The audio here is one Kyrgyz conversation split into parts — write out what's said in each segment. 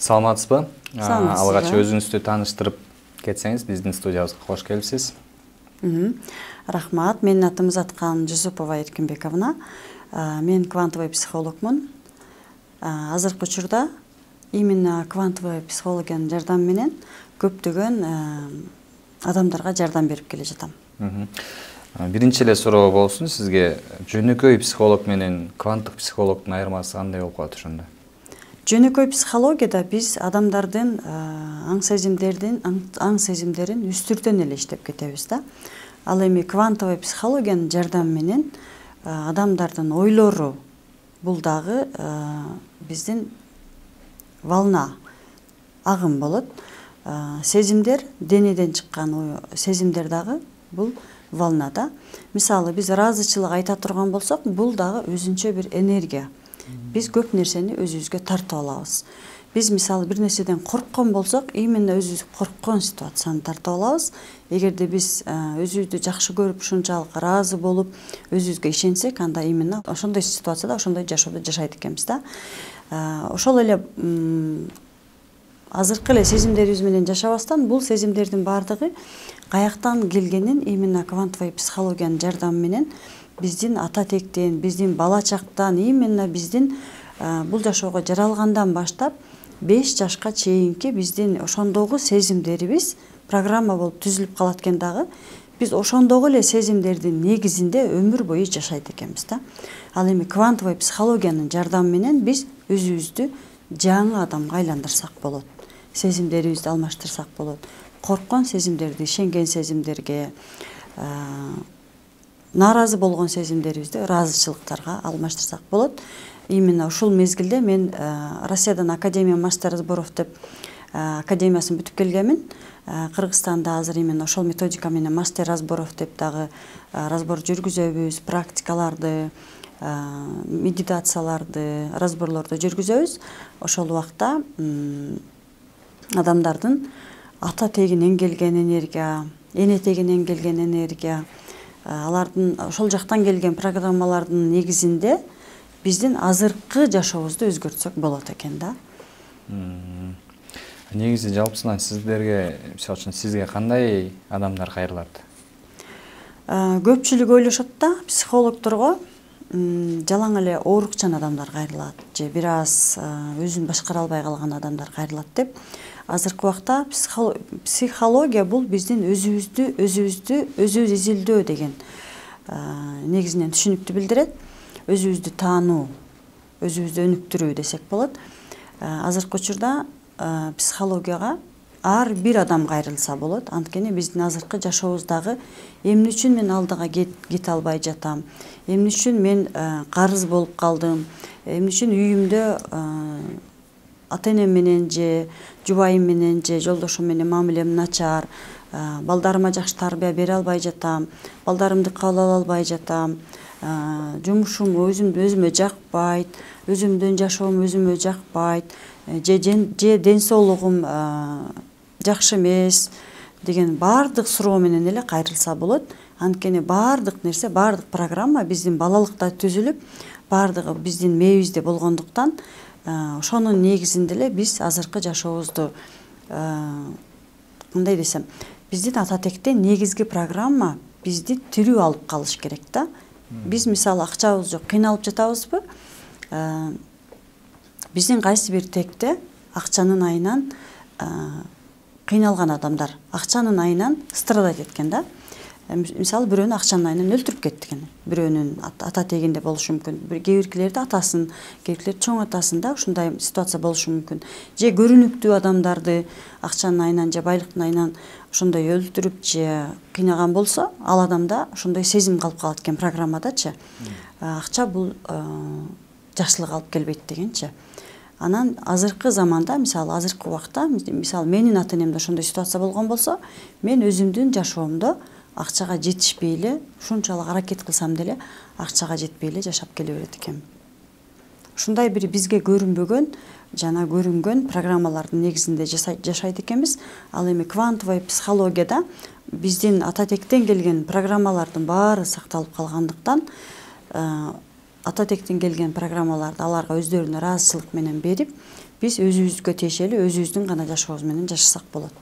Саламатсызбы? Алгач Саламатсызбы. өзүңүздү тааныштырып кетсеңиз, биздин студиябызга кош келипсиз. Рахмат. Менин атым Заткан Жусупова Эркинбековна. Мен квантовый психологмун. Азыркы учурда именно квантовый психологиянын жардамы менен көптөгөн адамдарга жардам берип келе жатам. Биринчи эле суроо болсун, сизге жөнөкөй психолог менен кванттык психологдун айырмасы кандай болуп калат ошондо? Жөнөкөй психологияда биз адамдардын аң сезимдерин үстүртөн эле иштеп кетебиз да. Ал эми квантовый психологиянын жардамы менен адамдардын ойлору бул дагы биздин волна, агым болот. Сезимдер, денеден чыккан сезимдер дагы бул волнада. Мисалы биз ыраазычылык айта турган болсок, бул дагы өзүнчө бир энергия. Биз көп нерсени өзүбүзгө тартып алабыз. Биз мисалы бир нерседен корккон болсок, именно өзүбүз корккон ситуацияны тартып алабыз. Эгерде биз өзүбүздү жакшы көрүп, ушунчалык ыраазы болуп, өзүбүзгө ишенсек, анда именно ошондой ситуацияда ошондой жашоодо жашайт экенбиз да. Ошол эле азыркы эле сезимдерибиз менен жашабастан, бул сезимдердин баардыгы каяктан келгенин именно квантовый психологиянын жардамы менен биздин ата тектен, биздин бала чактан, именно биздин бул жашоого жаралгандан баштап 5 жашка чейинки биздин ошондогу сезимдерибиз программа болуп түзүлүп калат экен дагы. Биз ошондогу эле сезимдердин негизинде өмүр бою жашайт экенбиз да. Ал эми квантовый психологиянын жардамы менен биз өзүбүздү жаңы адамга айландырсак болот. Сезимдерибизди алмаштырсак болот. Корккон сезимдерди ишенген сезимдерге, нааразы болгон сезимдерибизди ыраазычылыктарга алмаштырсак болот. Именно ушул мезгилде мен Россиядан Академия мастер разборов деп академиясын бүтүп келгенмин. Кыргызстанда азыр именно ошол методика менен мастер разборов деп дагы разбор жүргүзөбүз, практикаларды, медитацияларды, разборлорду жүргүзөбүз. Ошол убакта адамдардын ата тегинен келген энергия, эне тегинен келген энергия, алардын ошол жактан келген программалардын негизинде биздин азыркы жашообузду өзгөртсөк болот экен да. Негизи жалпысынан сиздерге, мисалы үчүн сизге кандай адамдар кайрылат? Көпчүлүк ойлошот да, психологдорго жалаң эле оорукчан адамдар кайрылат же бир аз өзүн башкара албай калган адамдар кайрылат деп. Азыркы убакта психология бул биздин өзүбүз изилдөө деген негизинен түшүнүктү билдирет. Өзүбүздү таануу, өзүбүздү өнүктүрүү десек болот. Азыркы учурда психологияга ар бир адам кайрылса болот. Анткени биздин азыркы жашообуздагы эмне үчүн мен алдыга кете албай жатам, эмне үчүн мен карыз болуп калдым, эмне үчүн үйүмдө ата-энем менен же жубайым менен же жолдошум менен мамилем начар, балдарыма жакшы тарбия бере албай жатам, балдарымды кабыл ала албай жатам, жумушум өзүмө жакпайт, өзүмдүн жашоом өзүмө жакпайт, же ден соолугум жакшы эмес деген баардык суроо менен эле кайрылса болот. Анткени баардык нерсе, баардык программа биздин балалыкта түзүлүп, баардыгы биздин мээбизде болгондуктан, ошонун негизинде эле биз азыркы жашообузду кандай десем, биздин ата тектен негизги программа бизди тирүү алып калыш керек да. Биз мисалы акчабыз жок, кыйналып жатабызбы? Биздин кайсы бир текте акчанын айынан кыйналган адамдар акчанын айынан страдать эткен да. Мисалы бирөөнү акчанын айынан өлтүрүп кеткен. Бирөөнүн ата тегинде болушу мүмкүн. Кээ биркилерди атасын, кээ биркилер чоң атасында ушундай ситуация болушу мүмкүн. Же көрүнүктүү адамдарды акчанын айынан же байлыктын айынан ошондой өлтүрүп же кыйнаган болсо, ал адамда ошондой сезим калып калат экен программадачы. Акча бул жакшылык алып келбейт дегенчи. Анан азыркы заманда, мисалы азыркы убакта, мисалы менин ата-энемде ошондой ситуация болгон болсо, мен өзүмдүн жашоомдо акчага жетишпей эле, ушунчалык аракет кылсам деле акчага жетпей эле жашап келе берет экенмин. Ушундай бир бизге көрүнбөгөн жана көрүнгөн программалардын негизинде жашайт экенбиз. Ал эми квантовый психологияда биздин ата тектен келген программалардын баары сакталып калгандыктан, ата тектен келген программаларды аларга өздөрүнө ыраазычылык менен берип, биз өзүбүзгө тиешелүү өзүбүздүн гана жашообуз менен жашасак болот.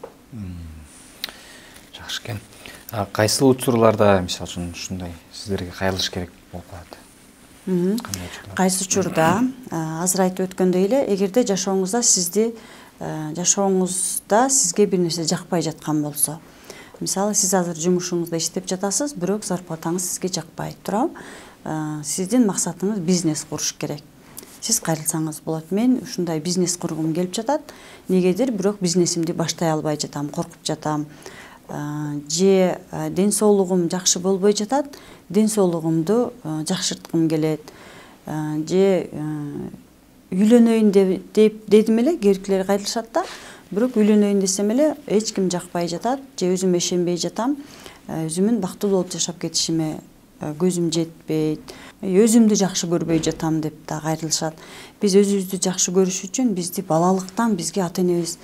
Жакшы экен. Кайсыл учурларда мисалы үчүн ушундай сиздерге кайрылыш керек болуп калат? Кайсы учурда азыр айтып өткөндөй эле, эгерде жашооңузда сизге бир нерсе жакпай жаткан болсо, мисалы сиз азыр жумушуңузда иштеп жатасыз, бирок зарплатаңыз сизге жакпай, туурабы? Сиздин максатыңыз бизнес куруш керек. Сиз кайрылсаңыз болот. Мен ушундай бизнес кургум келип жатат, негедир бирок бизнесимди баштай албай жатам, коркуп жатам. Же ден соолугум жакшы болбой жатат, ден соолугумду жакшырткым келет. Же үйлөнөйүн деп дедим эле, кээбиркилер кайрылышат да, бирок үйлөнөйүн десем эле эч ким жакпай жатат, же өзүм ишенбей жатам, өзүмдүн бактылуу болуп жашап кетишиме көзүм жетпейт, өзүмдү жакшы көрбөй жатам деп да кайрылышат. Биз өзүбүздү жакшы көрүш үчүн бизди балалыктан бизге ата-энебиз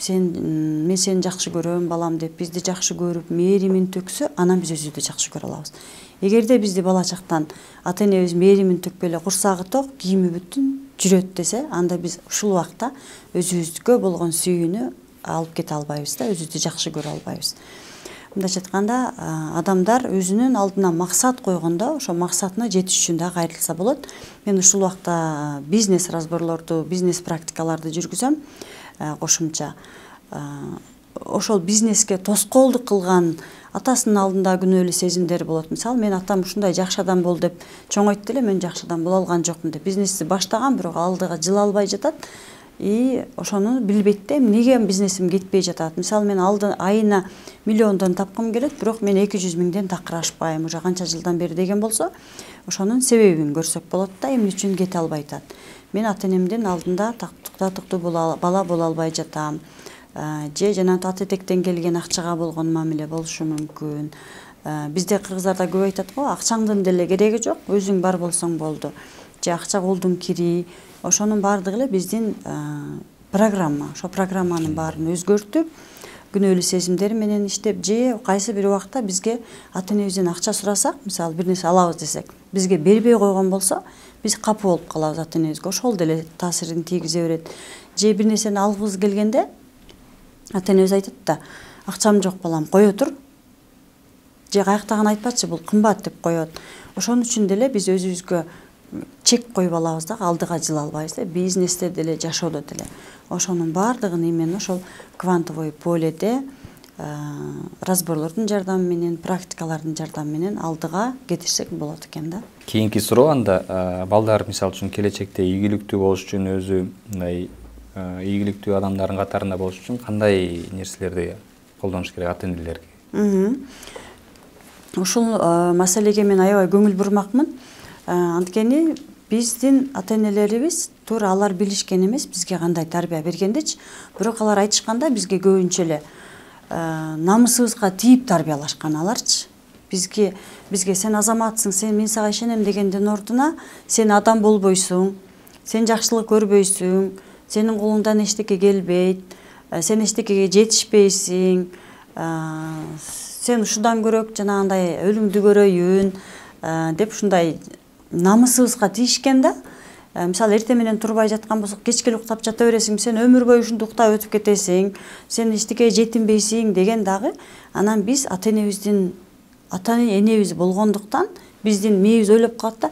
мен сени жакшы көрөм балам деп бизди жакшы көрүп, мээримин төксө, анан биз өзүбүздү жакшы көрө алабыз. Эгерде бизди бала чактан ата-энебиз мээримин төкпөй эле курсагы ток, кийими бүтүн жүрөт десе, анда биз ушул убакта өзүбүзгө болгон сүйүүнү алып кете албайбыз да, өзүбүздү жакшы көрө албайбыз. Мындайча айтканда, адамдар өзүнүн алдына максат койгондо, ошо максатына жетиш үчүн да кайрылса болот. Мен ушул убакта бизнес разборлорду, бизнес практикаларды жүргүзөм. Кошумча ошол бизнеске тоскоолдук кылган атасынын алдында күнөөлүү сезимдер болот. Мисалы, мен атам ушундай жакшы адам бол деп чоңойтты эле, мен жакшы адам боло алган жокмун деп бизнести баштаган, бирок алдыга жыла албай жатат. И ошону билбейт да, эмнеге бизнесим кетпей жатат. Мисалы, мен айына миллиондон тапкым келет, бирок мен 200 миңден такыр ашпайм, уже канча жылдан бери деген болсо, ошонун себебин көрсөк болот да, эмне үчүн кете албай атат. Мен ата-энемдин алдында татыктуу бала боло албай жатам. Же жана ата этектен келген акчага болгон мамиле болушу мүмкүн. Бизде кыргыздарда көп айтат го, акчаңдын деле кереги жок, өзүң бар болсоң болду. Же акча колдун кири, ошонун баардыгы эле биздин программа. Ошо программанын баарын өзгөртүп, күнөөлүү сезимдер менен иштеп, же кайсы бир убакта бизге ата-энебизден акча сурасак, мисалы бир нерсе алабыз десек, бизге бербей койгон болсо, биз капы болуп калабыз ата-энебизге. Ошол деле таасирин тийгизе берет. Же бир нерсени алгыбыз келгенде, ата-энебиз айтат да, акчам жок балам, кое тур. Же каяктагын айтпачы, бул кымбат деп коет. Ошон үчүн деле биз өзүбүзгө чек коюп алабыз да, алдыга жыла албайбыз да, бизнесте деле, жашоодо деле. Ошонун баардыгын именно ошол квантовый поледе разборлордун жардамы менен, практикалардын жардамы менен алдыга кетирсек болот экен да. Кийинки суроо анда балдар мисалы үчүн келечекте ийгиликтүү болуш үчүн, өзү мындай ийгиликтүү адамдардын катарында болуш үчүн кандай нерселерди колдонуш керек ата-энелерге? Ушул маселеге мен аябай көңүл бурмакмын. Анткени биздин ата-энелерибиз туура алар билишкен эмес бизге кандай тарбия бергендичи, бирок алар айтышканда бизге көбүнчө эле намысыбызга тийип тарбиялашкан аларчы. Бизге сен азаматсың, мен сага ишенем дегендин ордуна сен адам болбойсуң, сен жакшылык көрбөйсүң, сенин колуңдан эчтеке келбейт, сен эчтекеге жетишпейсиң, сен ушудан көрөк жанагындай өлүңдү көрөйүн деп ушундай намысыбызга тийишкен да. Мисалы, эртең менен турбай жаткан болсок, кечке уктап жата бересиң, сен өмүр бою ушунтип уктап өтүп кетесиң, сен эчтекеге жетинбейсиң деген дагы. Анан биз ата-энебиз болгондуктан биздин мээбиз ойлоп калат да,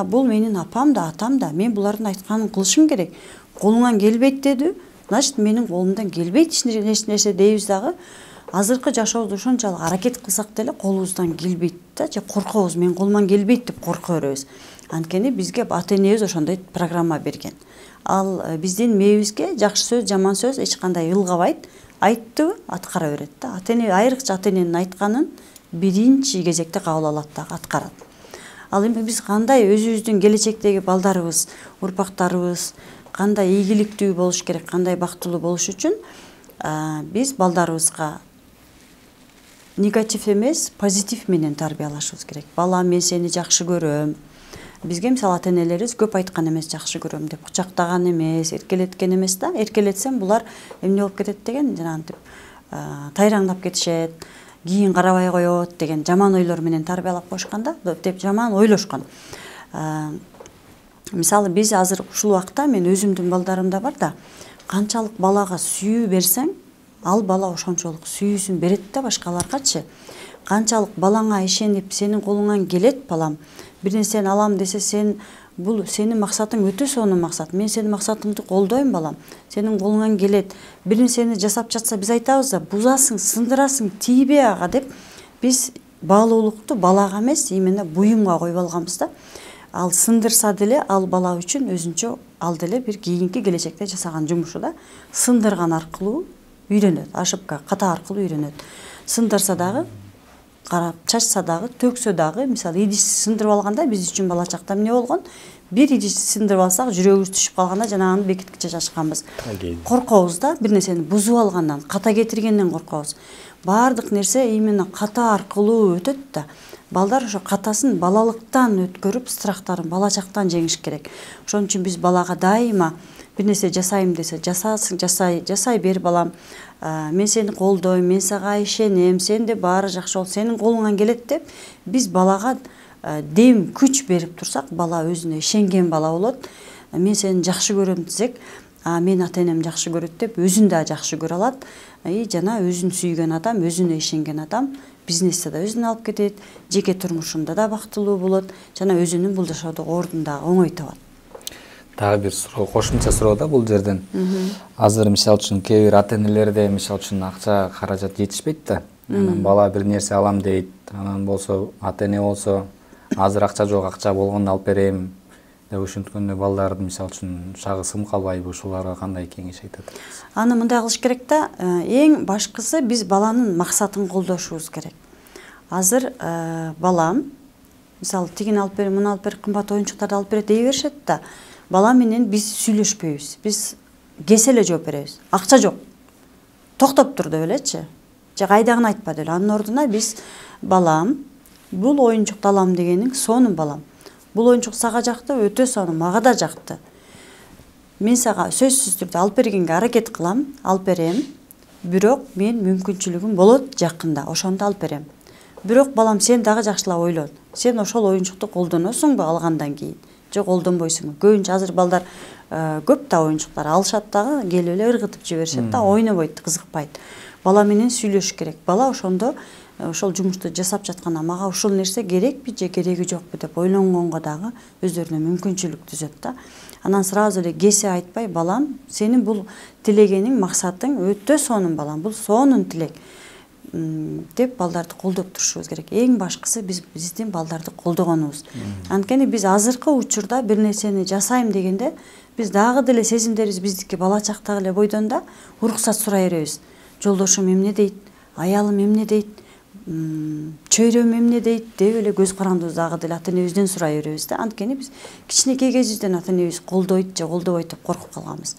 бул менин апам да, атам да, мен булардын айтканын кылышым керек. Колуңан келбейт деди, значит менин колумдан келбейт эч нерсе дейбиз дагы. Азыркы жашообузду ушунчалык аракет кылсак деле колубуздан келбейт да, же коркобуз, менин колуман келбейт деп корко беребиз. Анткени бизге ата-энебиз ошондой программа берген. Ал биздин мээбизге жакшы сөз, жаман сөз эч кандай ылгабайт, айттыбы аткара берет да. Ата-эне айрыкча ата-эненин айтканын биринчи кезекте кабыл алат да, аткарат. Ал эми биз кандай өзүбүздүн келечектеги балдарыбыз, урпактарыбыз кандай ийгиликтүү болуш керек, кандай бактылуу болуш үчүн биз балдарыбызга негатив эмес, позитив менен тарбиялашыбыз керек. Балам, мен сени жакшы көрөм. Бизге мисалы ата-энелерибиз көп айткан эмес, жакшы көрөм деп, кучактаган эмес, эркелеткен эмес да. Эркелетсем булар эмне болуп кетет деген, жанагынтип тайраңдап кетишет, кийин карабай коет деген жаман ойлор менен тарбиялап коюшкан да, деп жаман ойлошкон. мисалы биз азыр ушул убакта мен өзүмдүн балдарымда бар да, канчалык балага сүйүү берсең, ал бала ошончолук сүйүүсүн берет да башкаларгачы. Канчалык балаңа ишенип, сенин колуңан келет балам, бир нерсени алам десе, бул сенин максатың өтө сонун максат. Мен сенин максатыңды колдойм балам. Сенин колуңан келет. Бир нерсени жасап жатса биз айтабыз да, бузасың, сындырасың, тийбей ага деп биз баалуулукту балага эмес, именно буюмга коюп алганбыз да. Ал сындырса деле, ал бала үчүн өзүнчө ал деле бир кийинки келечекте жасаган жумушу да. Сындырган аркылуу үйрөнөт, ошибка, ката аркылуу үйрөнөт. Сындырса дагы, карап чачса дагы, төксө дагы, мисалы идиш сындырып алганда биз үчүн бала чакта эмне болгон? Бир идиш сындырып алсак, жүрөгүбүз түшүп калганда жанаганы бекиткиче чачканбыз. Коркобуз да, бир нерсени бузуп алгандан, ката кетиргенден коркобуз. Баардык нерсе именно ката аркылуу өтөт да. Балдар ошо катасын балалыктан өткөрүп, страхтарын бала чактан жеңиш керек. Ошон үчүн биз балага дайыма бир нерсе жасайм десе, жасасың, жасай бер балам. Мен сени колдойм, мен сага ишенем, сенде баары жакшы болот, сенин колуңан келет деп биз балага дем, күч берип турсак, бала өзүнө ишенген бала болот. Мен сени жакшы көрөм десек, мен ата-энем жакшы көрөт деп өзүн да жакшы көрө алат. Жана өзүн сүйгөн адам, өзүнө ишенген адам бизнесте да өзүн алып кетет, жеке турмушунда да бактылуу болот, жана өзүнүн бул жашоодогу ордун да оңой табат. Дагы бир суроо, кошумча суроо да бул жерден. Азыр мисалы үчүн кээ бир ата-энелерде мисалы үчүн акча каражат жетишпейт да. Анан бала бир нерсе алам дейт. Анан болсо ата-эне болсо азыр акча жок, акча болгондо алып берем деп ушинткөндө балдарды мисалы үчүн шагы сым калбайбы, ушуларга кандай кеңеш айтат? Аны мындай кылыш керек да, эң башкысы биз баланын максатын колдошубуз керек. Азыр балам мисалы тигини алып бер, муну алып бер, кымбат оюнчуктарды алып берет дей беришет да. Бала менен биз сүйлөшпөйбүз. Биз кесе эле жооп беребиз. Акча жок. Токтоп тур деп элечи. Же кайдагын айтпа деп. Анын ордуна биз балам, бул оюнчукту алам дегениң сонун балам. Бул оюнчук сага жакты, өтө сонун, мага да жакты. Мен сага сөзсүз түрдө алып бергенге аракет кылам, алып берем. Бирок мен мүмкүнчүлүгүм болот жакында, ошондо алып берем. Бирок балам, сен дагы жакшылап ойлон. Сен ошол оюнчукту колдоносуңбу алгандан кийин? Же колдонбойсуңбу? Көбүнчө азыр балдар көп да оюнчуктар алышат дагы, келип эле ыргытып жиберишет да, ойнобойт, кызыкпайт. Бала менен сүйлөшүш керек. Бала ошондо ошол жумушту жасап жатканда мага ушул нерсе керекпи же кереги жокпу деп ойлонгонго дагы өздөрүнө мүмкүнчүлүк түзөт да. Анан сразу эле кесе айтпай, балам, сенин бул тилегениң, максатың өтө сонун балам, бул сонун тилек деп балдарды колдоп турушубуз керек. Эң башкысы биздин балдарды колдогонубуз. Анткени биз азыркы учурда бир нерсени жасайм дегенде, биз дагы деле сезимдерибиз биздики бала чактагы эле бойдон да уруксат сурай беребиз. Жолдошум эмне дейт, аялым эмне дейт, чөйрөм эмне дейт деп эле көз карандыбызды дагы деле ата-энебизден сурай беребиз да. Анткени биз кичинекей кезибизден ата-энебиз колдойт же колдобойт деп коркуп калганбыз.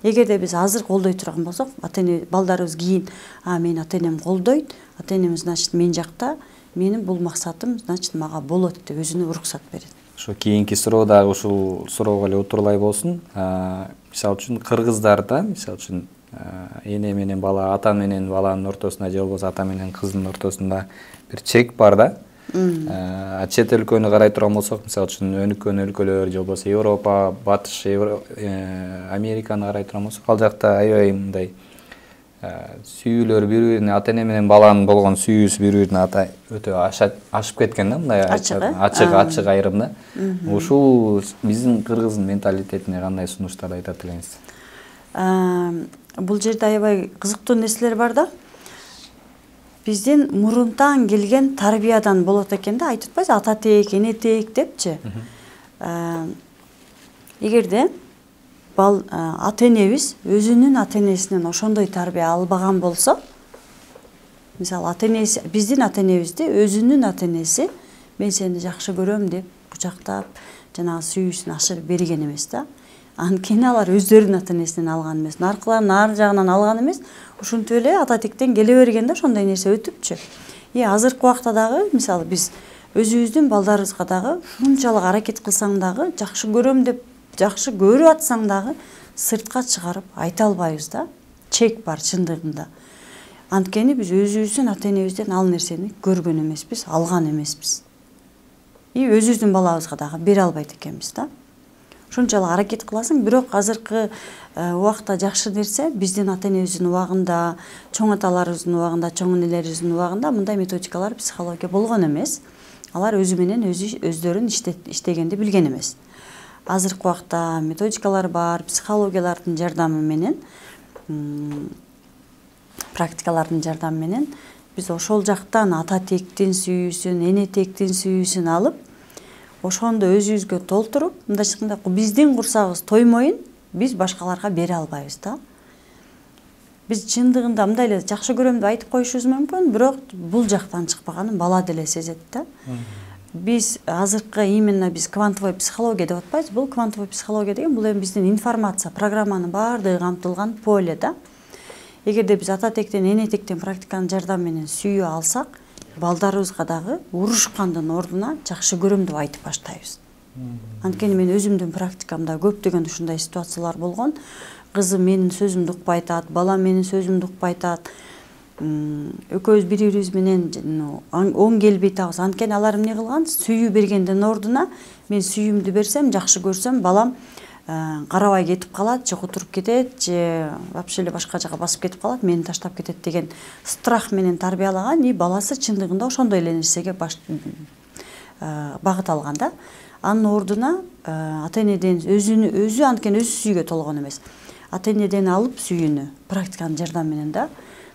Эгерде биз азыр колдой турган болсок, ата-эне балдарыбыз кийин, мени ата-энем колдойт, ата-энем значит мен жакта, менин бул максатым значит мага болот деп өзүнө уруксат берет. Ошо кийинки суроо дагы ушул суроого эле утурлай болсун. Мисалы үчүн кыргыздарда, мисалы үчүн эне менен бала, ата менен баланын ортосунда же болбосо ата менен кыздын ортосунда бир чек бар да. Чет өлкөнү карай турган болсок, мисалы үчүн өнүккөн өлкөлөр же болбосо Европа, Батыш Американы карай турган болсок, ал жакта аябай мындай сүйүүлөр бири-бирине, ата-эне менен баланын болгон сүйүүсү бири-бирине өтө ашып кеткен да, мындай ачык айрым да. Ушул биздин кыргыздын менталитетине кандай сунуштарды айтат элеңиз? Бул жерде аябай кызыктуу нерселер бар да. Биздин мурунтан келген тарбиядан болот экен да, айтып атпайсыз, ата тек, эне тек депчи. Эгерде ата-энебиз өзүнүн ата-энесинен ошондой тарбия албаган болсо, мисалы ата-энеси, биздин ата-энебизди өзүнүн ата-энеси мен сени жакшы көрөм деп кучактап, жанагы сүйүүсүн ашырып берген эмес да. Анткени алар өздөрүнүн ата-энесинен алган эмес, наркылардын ар жагынан алган эмес, ушинтип эле ата тектен келе берген да, ошондой нерсе өтүпчү. Азыркы убакта дагы мисалы биз өзүбүздүн балдарыбызга дагы ушунчалык аракет кылсаң дагы, жакшы көрөм деп жакшы көрүп атсаң дагы сыртка чыгарып айта албайбыз да. Чек бар чындыгында. Анткени биз өзүбүздүн ата-энебизден ал нерсени көргөн эмеспиз, алган эмеспиз. Өзүбүздүн балабызга дагы бере албайт экенбиз да. ушунчалык аракет кыласың. Бирок азыркы убакта жакшы нерсе биздин ата энебиздин убагында, чоң аталарыбыздын убагында, чоң энелерибиздин убагында мындай методикалар психология болгон эмес. Алар өзү менен өздөрүн иштегенди билген эмес. Азыркы убакта методикалар бар, психологиялардын жардамы менен, практикалардын жардамы менен биз ошол жактан ата тектин сүйүүсүн, эне тектин сүйүүсүн алып, ошондо өзүбүзгө толтуруп, мындайча айтканда биздин курсагыбыз тоймоюн, биз башкаларга бере албайбыз да. Биз чындыгында мындай эле жакшы көрөм деп айтып коюшубуз мүмкүн, бирок бул жактан чыкпаганын бала деле сезет да. Biz азыркы именно биз квантовой психология деп атпайбыз. Бул квантовой психология деген бул эми биздин информация, программанын баардыгы камтылган поле да. Эгерде биз ата тектен, эне тектен практиканын жардамы менен сүйүү алсак, балдарыбызга дагы урушкандын ордуна жакшы көрөм деп айтып баштайбыз. Анткени мен өзүмдүн практикамда көптөгөн ушундай ситуациялар болгон. Кызым менин сөзүмдү укпай атат, балам менин сөзүмдү укпай атат. Экөөбүз бири-бирибиз менен оң келбей атабыз. Анткени алар эмне кылган? Сүйүү бергендин ордуна мен сүйүүмдү берсем, жакшы көрсөм, балам карабай кетип калат, же кутуруп кетет, же вообще эле башка жака басып кетип калат, мени таштап кетет деген страх менен тарбиялаган, и баласы чындыгында ошондой эле нерсеге багыт алган да. Анын ордуна ата энеден өзү анткени өзү сүйүүгө толгон эмес. Ата энеден алып сүйүүнү практиканын жардамы менен да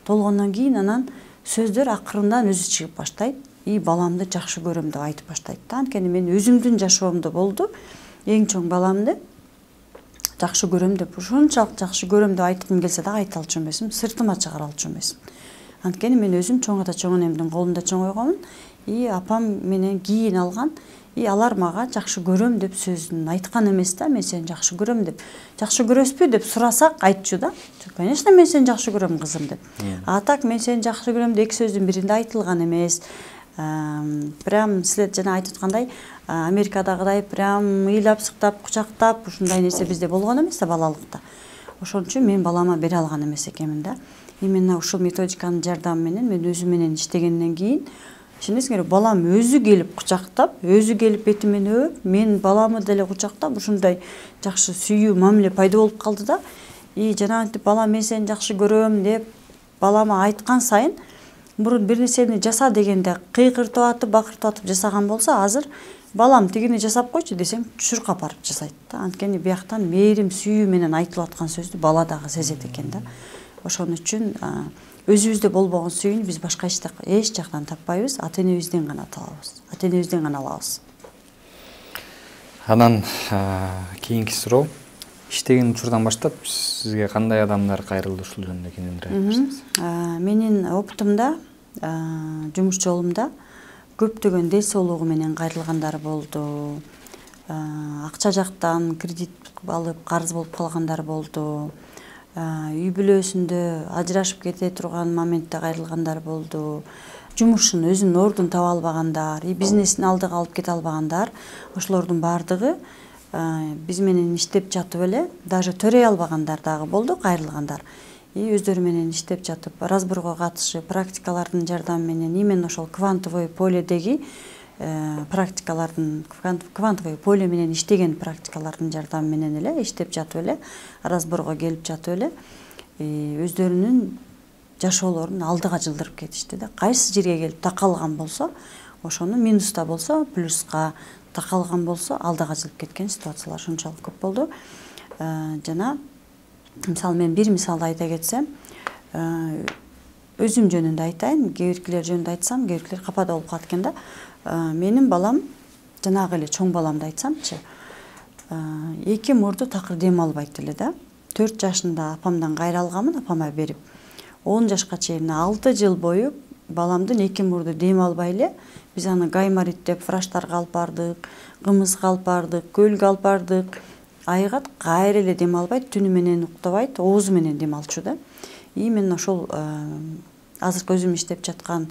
толгондон кийин анан сөздөр акырындан өзү чыгып баштайт. И баламды жакшы көрөм деп айтып баштайт да. Анткени мен өзүмдүн жашоомдо болду. Эң чоң баламды жакшы көрөм деп, ушунчалык жакшы көрөм деп айткым келсе да айта алчу эмесмин, сыртыма чыгара алчу эмесмин. Анткени мен өзүм чоң ата чоң энемдин колунда чоңойгонмун. И апам менен кийин алган, и алар мага жакшы көрөм деп сөзүн айткан эмес да, мен сени жакшы көрөм деп. Жакшы көрөсүзбү деп сурасак айтчу да. Конечно, мен сени жакшы көрөм кызым деп. А так мен сени жакшы көрөм деп эки сөздүн биринде айтылган эмес. Прям силер жана айтып аткандай, Америкадагыдай прям ыйлап, сыктап, кучактап ушундай нерсе бизде болгон эмес да балалыкта. Ошон үчүн мен балама бере алган эмес экенмин да. Именно ушул методиканын жардамы менен мен өзүм менен иштегенден кийин ишенесиңерби, балам өзү келип кучактап, өзү келип бетимен өөп, мен баламы деле кучактап ушундай жакшы сүйүү мамиле пайда болуп калды да. И жанагынтип балам мен сени жакшы көрөм деп балама айткан сайын, мурун бир нерсени жаса дегенде кыйкыртып атып, бакыртып атып жасаган болсо, азыр балам тигини жасап койчу десем чуркап барып жасайт да. Анткени бияктан мээрим, сүйүү менен айтылып аткан сөздү бала дагы сезет экен да. Ошон үчүн өзүбүздө болбогон сүйүүнү биз башка эч жактан таппайбыз, ата энебизден гана табабыз, ата энебизден гана алабыз. Анан кийинки суроо, иштеген учурдан баштап сизге кандай адамдар кайрылды, ушул жөнүндө кененирээк айтыңыз? Менин опытымда, жумуш жолумда көптөгөн дел соолугу менен кайрылгандар болду. Акча жактан кредит алып карыз болуп калгандар болду. Үй бүлөсүндө ажырашып кете турган моментте кайрылгандар болду. Жумушун өзүнүн ордун таба албагандар, бизнесин алдыга алып кете албагандар, ошолордун баардыгы биз менен иштеп жатып эле, даже төрөй албагандар дагы болду, кайрылгандар. И өздөрү менен иштеп жатып, разборго катышып, практикалардын жардамы менен, именно ошол квантовый поледеги практикалардын, квантовый поле менен иштеген практикалардын жардамы менен эле иштеп жатып эле, разборго келип жатып эле, өздөрүнүн жашоолорун алдыга жылдырып кетишти да. Кайсы жерге келип такалган болсо, ошону минуста болсо, плюска, такалган болсо, алдыга жылып кеткен ситуациялар ушунчалык көп болду. Жана мисалы мен бир мисалды айта кетсем, өзүм жөнүндө айтайын, кээ биркилер жөнүндө айтсам, кээ биркилер капада болуп калат экен да. Менин балам, жанагы эле чоң баламды айтсамчы, 2 мурду такыр дем албайт эле да. 4 жашында апамдан кайра алганмын, апама берип. 10 жашка чейин 6 жыл бою баламдын 2 мурду дем албай эле, биз аны гайморит деп врачтарга алып бардык, кымызга алып бардык, көлгө алып бардык. Айгат кайра эле дем албайт, түнү менен уктабайт, оозу менен дем алчу да. Именно ошол азыркы өзүм иштеп жаткан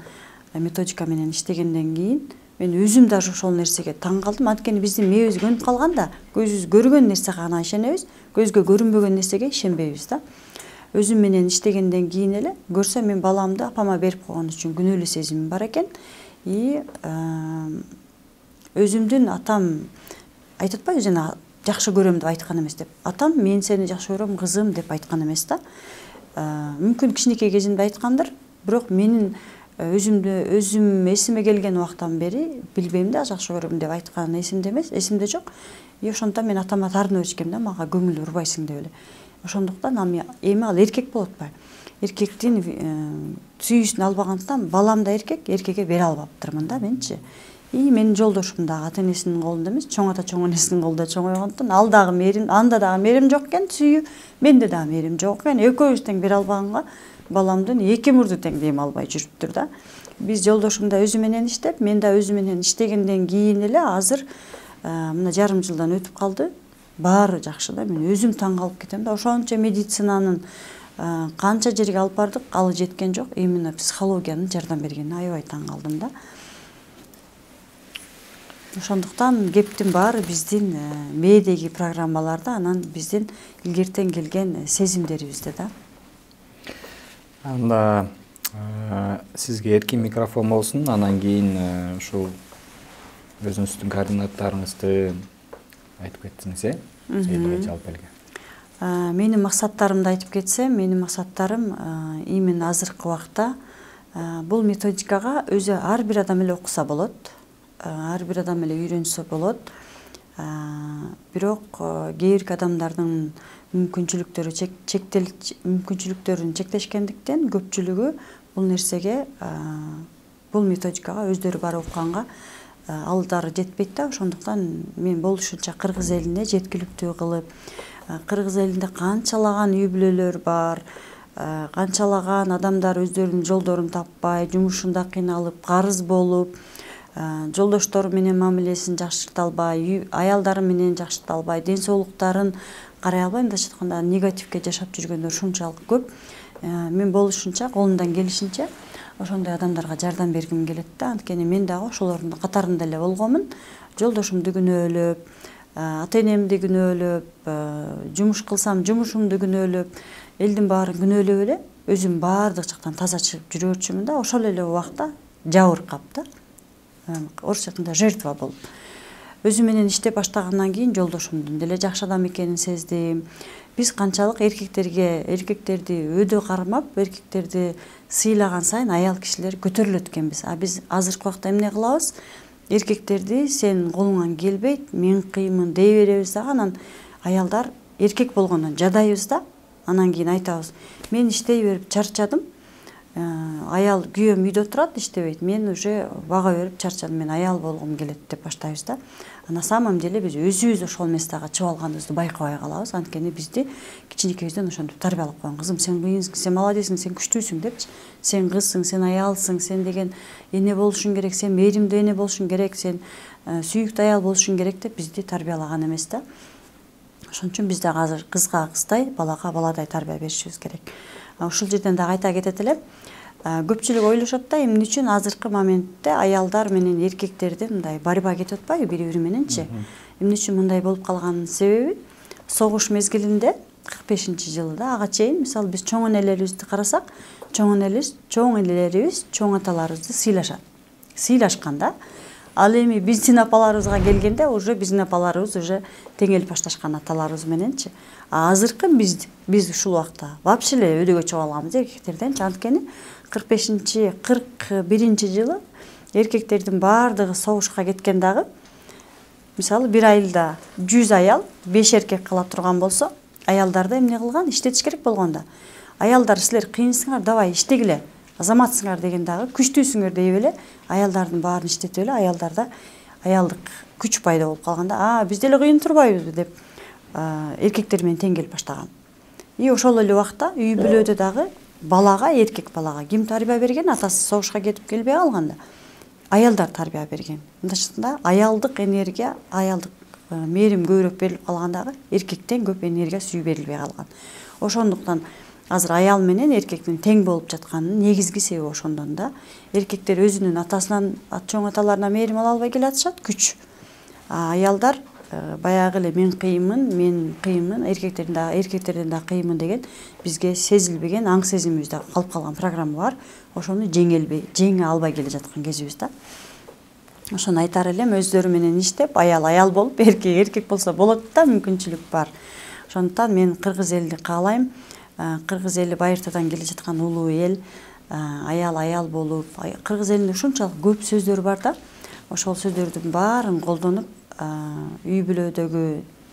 методика менен иштегенден кийин мен өзүм даже ошол нерсеге таң калдым. Анткени биздин мээбиз көнүп калган да, көзүбүз көргөн нерсеге гана ишенебиз, көзгө көрүнбөгөн нерсеге ишенбейбиз да. Өзүм менен иштегенден кийин эле көрсөм мен баламды апама берип койгон үчүн күнөөлүү сезимим бар экен. И өзүмдүн атам айтып атпайбы жана жакшы көрөм деп айткан эмес деп. Атам мен сени жакшы көрөм кызым деп айткан эмес да. Мүмкүн кичинекей кезинде айткандыр, бирок менин өзүм эсиме келген убактан бери билбейм да, жакшы көрөм деп айткан эсимде эмес, эсимде жок. Ошондуктан мен атама таарынып беришкем да, мага көңүл урбайсың деп эле. Ошондуктан эми ал эркек болуп атпайбы. Эркектин сүйүүсүн албагандыктан балам да эркекке бере албаптырмын да менчи. Менин жолдошум дагы ата энесинин колунда эмес, чоң ата чоң энесинин колунда чоңойгондуктан ал дагы мээрим, анда дагы мээрим жок экен, сүйүү, менде дагы мээрим жок экен. Экөөбүз тең бере албаганга баламдын эки мурду тең дем албай жүрүптүр да. Биз жолдошум да өзү менен иштеп, мен да өзү менен иштегенден кийин эле азыр мына жарым жылдан өтүп калды. Баары жакшы да. Мен өзүм таң калып кетем да. Ошончо медицинанын канча жерге алып бардык, ал жеткен жок. Именно психологиянын жардам бергенине аябай таң калдым да. Ошондуктан кептин баары биздин мээдеги программаларда, анан биздин илгертен келген сезимдерибизде да. Анда сизге эркин микрофон болсун, анан кийин ушул өзүңүздүн координаттарыңызды айтып кетсеңиз, элге жалпы элге. Менин максаттарымды айтып кетсем, менин максаттарым именно азыркы убакта бул методикага өзү ар бир адам эле окуса болот, ар бир адам эле үйрөнсө болот. Бирок кээ бир адамдардын мүмкүнчүлүктөрүн чектешкендиктен көпчүлүгү бул нерсеге, бул методикага өздөрү барып укканга алдары жетпейт да. Ошондуктан мен болушунча кыргыз элине жеткиликтүү кылып, кыргыз элинде канчалаган үй бүлөлөр бар, канчалаган адамдар өздөрүнүн жолдорун таппай, жумушунда кыйналып, карыз болуп, жолдоштору менен мамилесин жакшырта албай, аялдары менен жакшырта албай, ден соолуктарын карай албай, мындайча айтканда негативге жашап жүргөндөр ушунчалык көп. Мен болушунча, колумдан келишинче ошондой адамдарга жардам бергим келет да. Анткени мен дагы ошолордун катарында эле болгонмун. Жолдошумду күнөөлөп, ата энемди күнөөлөп, жумуш кылсам жумушумду күнөөлөп, элдин баарын күнөөлөп эле өзүм баардык жактан таза чыгып жүрөчүмүн да. Ошол эле убакта жабыркап да, орусча айтканда жертва болуп. Өзүм менен иштеп баштагандан кийин жолдошумдун деле жакшы адам экенин сездим. Биз канчалык эркектерди өдө кармап, эркектерди сыйлаган сайын аял кишилер көтөрүлөт экенбиз. Биз азыркы убакта эмне кылабыз? Эркектерди сен колуңан келбейт, мен кыймын дей беребиз дагы, анан аялдар эркек болгондон жадайбыз да. Анан кийин айтабыз: мен иштей берип чарчадым. Аял күйөөм үйдө турат, иштебейт. Мен уже бага берип чарчадым, мен аял болгум келет деп баштайбыз да. На самом деле биз өзүбүз ошол местага чыгып алганыбызды байкабай калабыз. Анткени бизди кичинекейибизден ошентип тарбиялап койгон. Кызым, сен кыйынсың, сен молодецсиң, сен күчтүүсүң депчи. Сен кызсың, сен аялсың, сен деген эне болушуң керек, сен мээримдүү эне болушуң керек, сен сүйүктүү аял болушуң керек деп бизди тарбиялаган эмес да. Ошон үчүн биз дагы азыр кызга кыздай, балага баладай тарбия беришибиз керек. Ушул жерден дагы айта кетет элем. Көпчүлүк ойлошот да, эмне үчүн азыркы моментте аялдар менен эркектерде мындай борьба кетип атпайбы бири-бири мененчи? Эмне үчүн мындай болуп калганын себеби согуш мезгилинде 45-жылы да ага чейин, мисалы биз чоң энелерибизди карасак, чоң энелерибиз чоң аталарыбызды сыйлашкан да. Ал эми биздин апаларыбызга келгенде уже биздин апаларыбыз уже теңелип башташкан аталарыбыз мененчи. Азыркы биз ушул убакта вообще эле өдөгө чыгып алганбыз эркектерден. Анткени 41-жылы эркектердин баардыгы согушка кеткен дагы. Мисалы бир айылда 100 аял 5 эркек кала турган болсо, аялдарды эмне кылган? Иштетиш керек болгондо. Аялдар, силер кыйынсыңар, давай иштегиле, азаматсыңар деген дагы, күчтүүсүңөр деп эле аялдардын баарын иштетип эле аялдарда аялдык күч пайда болуп калганда, биз деле кыйын турбайбызбы деп эркектер менен тең келип баштаган. Ошол эле убакта үй бүлөдө дагы балага, эркек балага ким тарбия берген? Атасы согушка кетип келбей калганда аялдар тарбия берген. Мындайча аялдык энергия, аялдык мээрим көбүрөөк берилип калгандагы эркектен көп энергия сүйүү берилбей калган. Ошондуктан азыр аял менен эркектин тең болуп жатканынын негизги себеби ошондон да. Эркектер өзүнүн атасынан, чоң аталарынан мээрим ала албай келатышат, күч. Аялдар баягы эле мен кыйынмын, эркектерден да кыйынмын деген бизге сезилбеген аң сезимибизде калып калган программа бар. Ошону жеңе албай келе жаткан кезибиз да. Ошону айтар элем, өздөрү менен иштеп, аял болуп, эркек болсо болот да, мүмкүнчүлүк бар. Ошондуктан мен кыргыз элди каалайм. Кыргыз эли байыртадан келе жаткан улуу эл, аял болуп, кыргыз элинде ушунчалык көп сөздөр бар да. Ошол сөздөрдүн баарын колдонуп, үй бүлөдөгү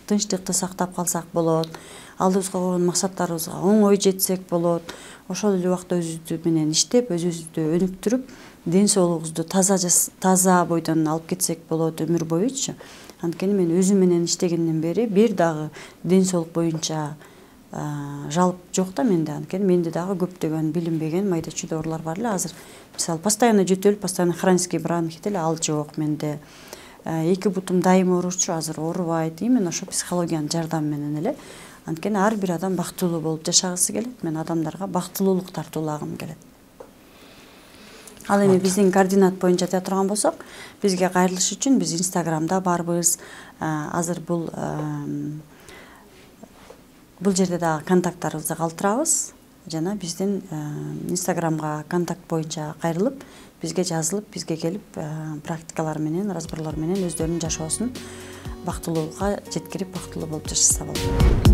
тынчтыкты сактап калсак болот, алдыбызга койгон максаттарыбызга оңой жетсек болот. Ошол эле убакта өзүбүз менен иштеп, өзүбүздү өнүктүрүп, ден соолугубузду таза бойдон алып кетсек болот өмүр боючу. Анткени мен өзүм менен иштегенден бери бир дагы ден соолук боюнча жалп жок да менде. Анткени менде дагы көптөгөн билинбеген майда чүйдө оорулар бар эле. Азыр мисалы постоянно жөтөл, постоянно хронический бронхит эле, ал жок менде. Эки бутум дайыма ооручу, азыр оорубайт. Именно ошо психологиянын жардамы менен эле. Анткени ар бир адам бактылуу болуп жашагысы келет. Мен адамдарга бактылуулук тартуулагым келет. Ал эми биздин координат боюнча айта турган болсок, бизге кайрылыш үчүн биз Инстаграмда барбыз. Азыр бул жерде дагы контакттарыбызды калтырабыз. Жана биздин Инстаграмга контакт боюнча кайрылып, бизге жазылып, бизге келип, практикалар менен, разборлор менен өздөрүнүн жашоосун бактылуулукка жеткирип, бактылуу болуп жашаса болот.